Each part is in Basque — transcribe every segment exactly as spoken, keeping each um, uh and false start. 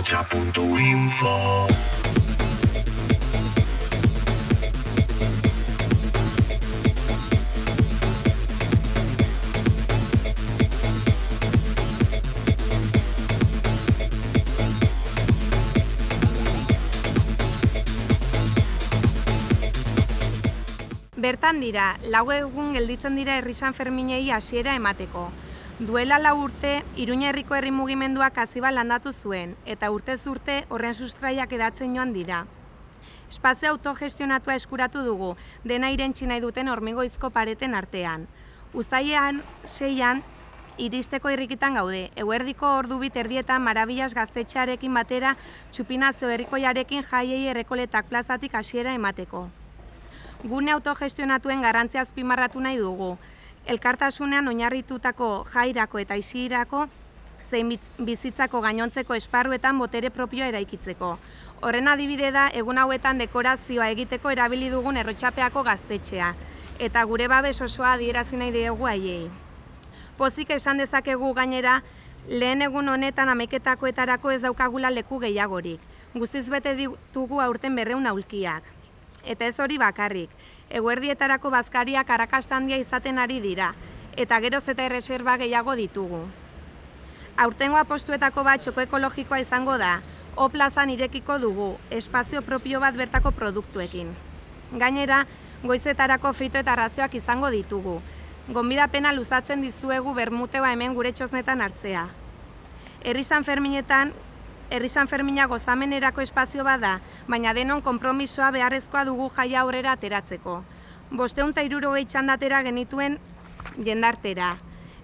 ahotsa puntu info. Bertan dira, lau egun gelditzen dira herri Sanferminei hasiera emateko. Duela lau urte, Iruña herriko herri mugimenduak Aziba landatu zuen, eta urtez urte horren sustraiak edatzen joan dira. Espazio autogestionatua eskuratu dugu, dena irentsi nahi duten hormigoizko pareten artean. Uztailean, seian, iristeko irrikitan gaude, eguerdiko ordu bit erdietan Marabillas gaztetxearekin batera Txupinazio herrikoiarekin jaiei errekoletak plazatik hasiera emateko. Gune autogestionatuen garrantzia azpimarratu nahi dugu. Elkartasunean oinarritutako jairako eta isirako zein bizitzako gainontzeko esparruetan botere propioa eraikitzeko. Horren adibide da egun hauetan dekorazioa egiteko erabili dugun Errotxapeako gaztetxea, eta gure babes osoa adierazi nahi diegu haiei. Pozik esan dezakegu gainera, lehen egun honetan hamaiketakoetarako ez daukagula leku gehiagorik. Guztiz bete ditugu aurten berrehun aulkiak. Eta ez hori bakarrik, eguerdietarako bazkariak arrakasta handia izaten ari dira, eta geroz eta erreserba gehiago ditugu. Aurtengo apostuetako bat txoko ekologikoa izango da, O plazan irekiko dugu, espazio propio bat bertako produktuekin. Gainera, goizetarako frito eta razioak izango ditugu. Gonbidapena luzatzen dizuegu bermuteoa hemen gure txosnetan hartzea. Herri Sanferminetan, Herri Sanfermina gozamenerako espazio bada, baina denon konpromisoa beharrezkoa dugu jaia aurrera ateratzeko. Bosteun eta hirurogei txandatera genituen jendartera.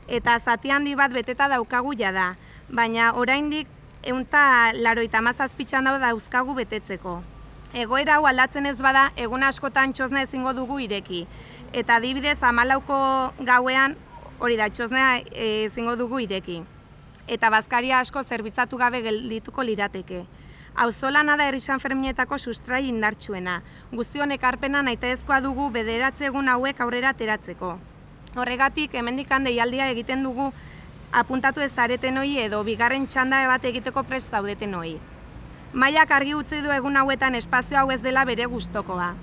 Eta zati handi bat beteta daukagu jada, baina oraindik ehun eta laurogeita hamazazpi txanda dauzkagu betetzeko. Egoera hau aldatzen ez bada, egun askotan txosna ezingo dugu ireki. Eta adibidez hamalauko gauean hori da txosna ezingo dugu ireki. Eta bazkaria asko zerbitzatu gabe geldituko lirateke. Auzolana da herri Sanferminetako sustrai indartsuena. Guztion ekarpena nahitaezkoa dugu bederatzi egun hauek aurrera ateratzeko. Horregatik, hemendik deialdia egiten dugu apuntatu ez zareten hori edo bigarren txanda bat egiteko prest zaudeten hori. Mailak argi utzi du egun hauetan espazio hau ez dela bere gustokoa.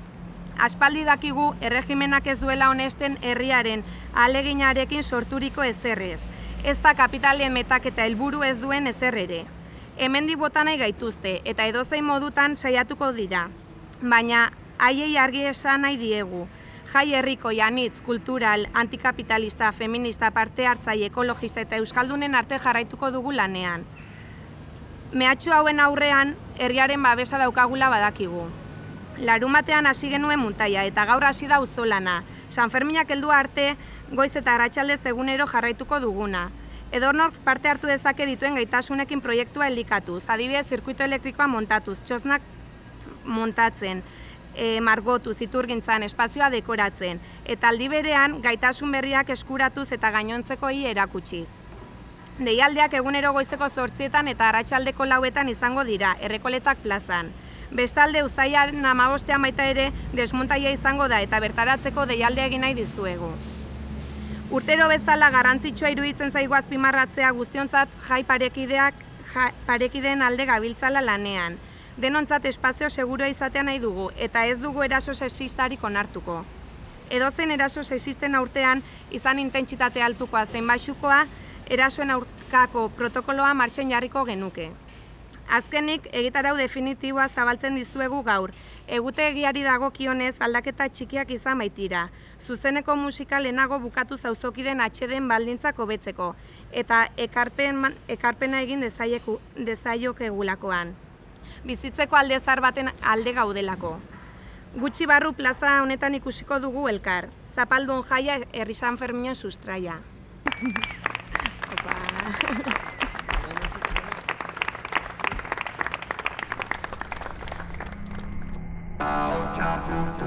Aspaldi dakigu erregimenak ez duela onesten herriaren ahaleginarekin sorturiko ezerrez. Ez da kapitalen metaketa helburu ez duen ezer ere. Hemendik bota nahi gaituzte eta edozein modutan saiatuko dira. Baina haiei argi esan nahi diegu. Jai herriko anitz, kultural, antikapitalista, feminista, parte hartzaile, ekologista eta euskaldunen arte jarraituko dugu lanean. Mehatxu hauen aurrean herriaren babesa daukagula badakigu. Larumatean hasi genuen muntaia eta gaur hasi da auzolana. Sanferminak heldu arte goiz eta arratsaldez egunero jarraituko duguna. Edonork parte hartu dezake dituen gaitasunekin proiektua elikatuz, adibidez zirkuito elektrikoa montatuz, txosnak montatzen, e, margotuz, iturgintzan, espazioa dekoratzen, eta aldi berean gaitasun berriak eskuratuz eta gainontzekoi erakutsiz. Deialdiak egunero goizeko zortzietan eta arratsaldeko lauetan izango dira, Errekoletak plazan. Bestalde, uztailaren hamabostean baita ere desmuntaia izango da eta bertaratzeko deialdea egin nahi dizuegu. Urtero bezala garrantzitsua iruditzen zaigu azpimarratzea guztiontzat jai parekideak ja, parekideen alde gabiltzala lanean. Denontzat espazio segurua izatea nahi dugu eta ez dugu eraso sexistarik onartuko. Edozein eraso sexisten aurtean izan intentsitate altukoa zein baxukoa, erasoen aurkako protokoloa martxan jarriko genuke. Azkenik, egitarau definitiboa zabaltzen dizuegu gaur. Egutegiari dagokionez aldaketa txikiak izan baitira. Zuzeneko musika lehenago bukatu zauzokiden atxeden baldintzak hobetzeko eta ekarpen, ekarpena egin dezaiokegulakoan. Bizitzeko alde zar baten alde gaudelako. Gutxi barru plaza honetan ikusiko dugu elkar. Zapaldun jaia herri Sanferminen sustraia. ahotsa puntu